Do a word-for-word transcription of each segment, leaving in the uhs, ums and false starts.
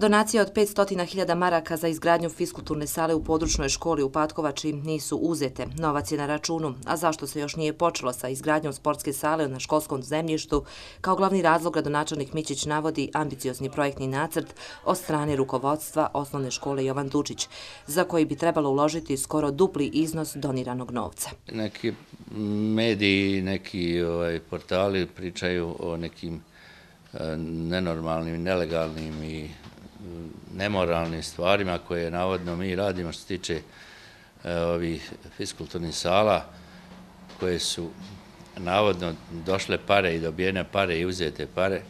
Donacije od petsto hiljada maraka za izgradnju fiskulturne sale u područnoj školi u Patkovači nisu uzete. Novac je na računu, a zašto se još nije počelo sa izgradnjom sportske sale na školskom zemljištu, kao glavni razlog gradonačelnik Mićić navodi ambiciozni projektni nacrt od strane rukovodstva osnovne škole Jovan Dučić, za koji bi trebalo uložiti skoro dupli iznos doniranog novca. Neki mediji, neki ovaj, portali pričaju o nekim nenormalnim, nelegalnim i nemoralnim stvarima koje navodno mi radimo što se tiče ovih fiskulturnih sala koje su navodno došle pare i dobijene pare i uzete pare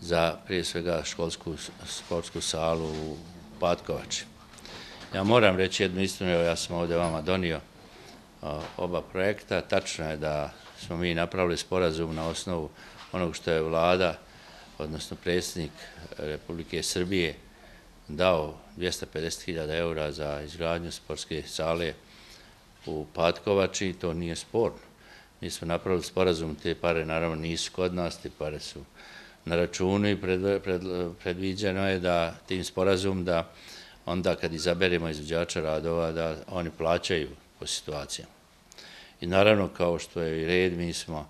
za prije svega školsku sportsku salu u Patkovači. Ja moram reći jednu istinu, ja sam ovdje vama donio oba projekta. Tačno je da smo mi napravili sporazum na osnovu onog što je vlada, odnosno predsjednik Republike Srbije, dao dvjesto pedeset hiljada eura za izgradnju sportske sale u Patkovači, to nije sporno. Mi smo napravili sporazum, te pare naravno nisu kod nas, te pare su na računu i predviđeno je da tim sporazum da onda kad izaberemo izvođača radova da oni plaćaju po situacijama. I naravno kao što je i red, mi smo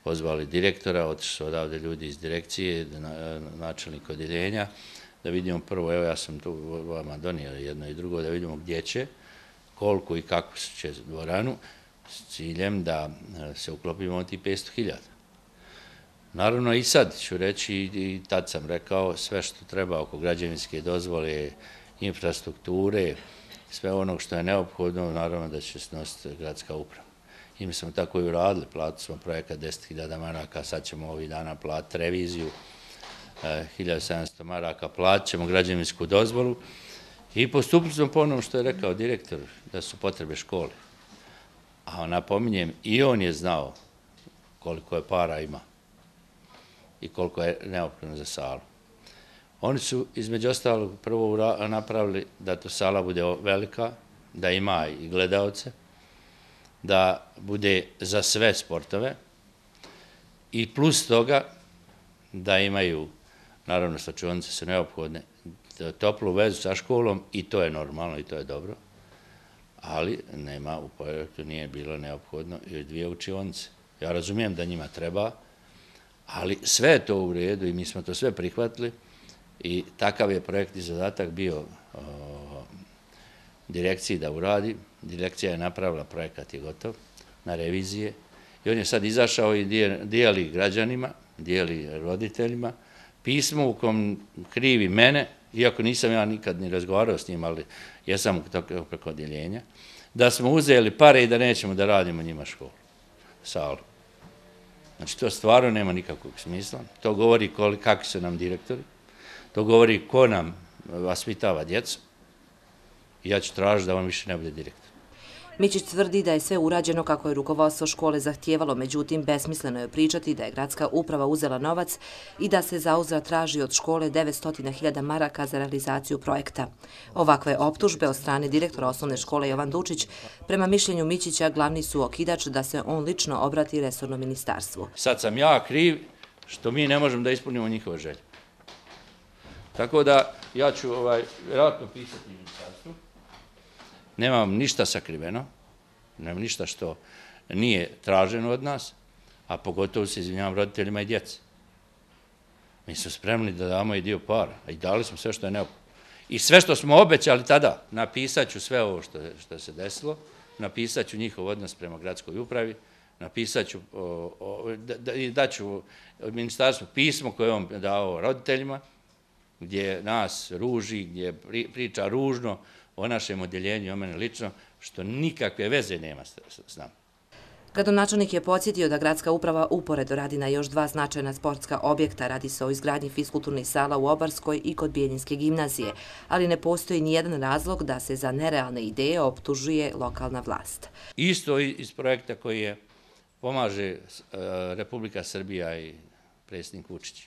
pozvali direktora, otišli su odavde ljudi iz direkcije, načelnik odjeljenja, da vidimo prvo, evo ja sam tu vama donio jedno i drugo, da vidimo gdje će, koliko i kako će dvoranu, s ciljem da se uklopimo od tih petsto hiljada. Naravno i sad ću reći, i tad sam rekao, sve što treba oko građevinske dozvole, infrastrukture, sve ono što je neophodno, naravno da će snositi gradska uprava. I mi smo tako i uradili, platili smo projekat deset hiljada maraka, sad ćemo ovih dana platiti reviziju, hiljadu sedamsto maraka, platit ćemo građevinsku dozvolu i postupili smo po onom što je rekao direktor, da su potrebe škole. A napominjem, i on je znao koliko je para ima i koliko je neophodno za salu. Oni su između ostalog prvo napravili da to sala bude velika, da ima i gledaoce, da bude za sve sportove i plus toga da imaju, naravno slačionice su neophodne, toplu vezu sa školom i to je normalno i to je dobro, ali nema, u projektu nije bilo neophodno i dvije učionice. Ja razumijem da njima treba, ali sve je to u redu i mi smo to sve prihvatili i takav je projektni zadatak bio direkciji da uradi. Direkcija je napravila, projekat je gotov na revizije i on je sad izašao i dijeli građanima, dijeli roditeljima pismo u kom krivi mene, iako nisam ja nikad ni razgovarao s njim, ali jesam preko odjeljenja, da smo uzeli pare i da nećemo da radimo njima školu, salu. Znači to stvarno nema nikakvog smisla, to govori kakvi su nam direktori, to govori ko nam vaspitava djecu. Ja ću tražiti da on više ne bude direktor. Mićić tvrdi da je sve urađeno kako je rukovodstvo škole zahtijevalo, međutim, besmisleno je pričati da je gradska uprava uzela novac i da se zauzvrat traži od škole devetsto hiljada maraka za realizaciju projekta. Ovakve optužbe od strane direktora osnovne škole Jovan Dučić, prema mišljenju Mićića, glavni su okidač da se on lično obrati resornom ministarstvu. Sad sam ja kriv što mi ne možemo da ispunimo njihove želje. Tako da ja ću vjerojatno pisati ministarstvu. Nemam ništa sakriveno, nemam ništa što nije traženo od nas, a pogotovo se izvinjavam roditeljima i djeci. Mi smo spremni da damo i dio para, a i dali smo sve što je neophodno. I sve što smo obećali tada, napisat ću sve ovo što se desilo, napisat ću njihov odnos prema gradskoj upravi, napisat ću i daću ministarstvu pismo koje je on dao roditeljima, gdje nas ruži, gdje priča ružno o našem odjeljenju i o mene lično, što nikakve veze nema s nama. Gradonačelnik je podsjetio da gradska uprava uporedo radi na još dva značajna sportska objekta. Radi se o izgradnji fiskulturnih sala u Obarskoj i kod Bijeljinske gimnazije, ali ne postoji nijedan razlog da se za nerealne ideje optužuje lokalna vlast. Isto iz projekta koji je pomaže Republika Srbija i predsjednik Vučić.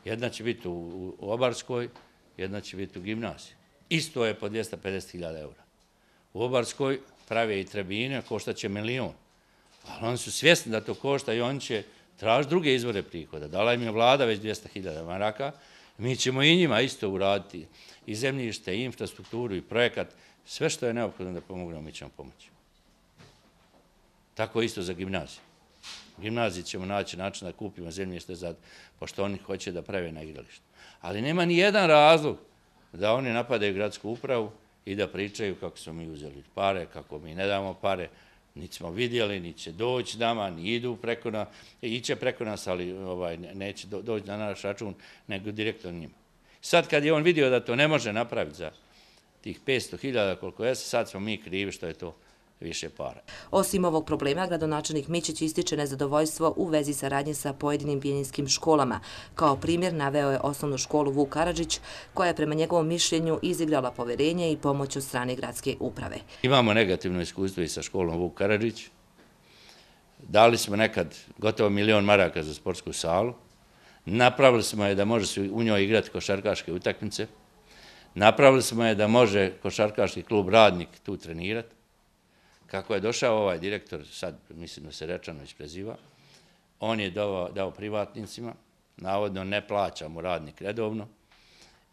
Jedna će biti u Obarskoj, jedna će biti u gimnaziji. Isto je po dvjesto pedeset hiljada eura. U Obarskoj prave i tribine, košta će milion. Ali oni su svjesni da to košta i oni će tražiti druge izvore prihoda. Dala im je vlada već dvjesto hiljada maraka. Mi ćemo i njima isto uraditi i zemljište, i infrastrukturu, i projekat, sve što je neophodno da pomognemo, mi ćemo pomoći. Tako isto za gimnaziju. U gimnaziji ćemo naći način da kupimo zemljište, pošto oni hoće da prave na igralištu. Ali nema ni jedan razlog da oni napadaju gradsku upravu i da pričaju kako smo mi uzeli pare, kako mi ne damo pare, niti smo vidjeli, niti će doći nama, ni idu preko nas, iće preko nas, ali neće doći na naš račun, nego direktno njima. Sad kad je on vidio da to ne može napraviti za tih petsto hiljada koliko je, sad smo mi krivi što je to više para. Osim ovog problema, gradonačelnik Mićić ističe nezadovoljstvo u vezi saradnje sa pojedinim bijeljinjskim školama. Kao primjer naveo je osnovnu školu Vuk Karadžić, koja je prema njegovom mišljenju izigrala poverenje i pomoć od strane gradske uprave. Imamo negativno iskustvo i sa školom Vuk Karadžić. Dali smo nekad gotovo milion maraka za sportsku salu. Napravili smo je da može se u njoj igrati košarkaške utakmice. Napravili smo je da može košarkaški klub Radnik tu trenirati. Kako je došao ovaj direktor, sad mislim da se Rečanović preziva, on je dao privatnicima, navodno ne plaća mu Radnik redovno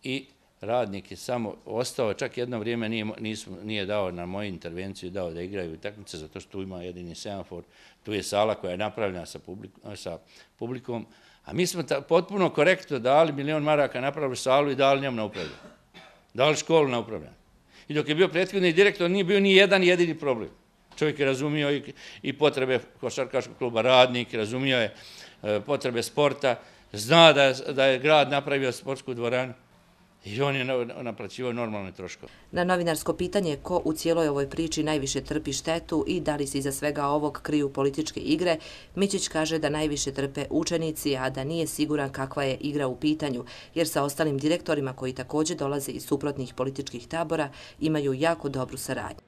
i Radnik je samo ostao, čak jedno vrijeme nije dao na moju intervenciju, dao da igraju utakmice, zato što tu ima jedini semafor, tu je sala koja je napravljena sa publikom, a mi smo potpuno korektno dali milion maraka, napravili salu i dali njom na upravljanje. Dali školu na upravljanje. I dok je bio prethodni direktor, nije bio ni jedan jedini problem. Čovjek je razumio i potrebe košarkaškog kluba Radnik, razumio je potrebe sporta, zna da je grad napravio sportsku dvoranu i on je naplaćivao normalne troškove. Na novinarsko pitanje ko u cijeloj ovoj priči najviše trpi štetu i da li se iza svega ovog kriju političke igre, Mićić kaže da najviše trpe učenici, a da nije siguran kakva je igra u pitanju, jer sa ostalim direktorima koji također dolaze iz suprotnih političkih tabora imaju jako dobru saradnju.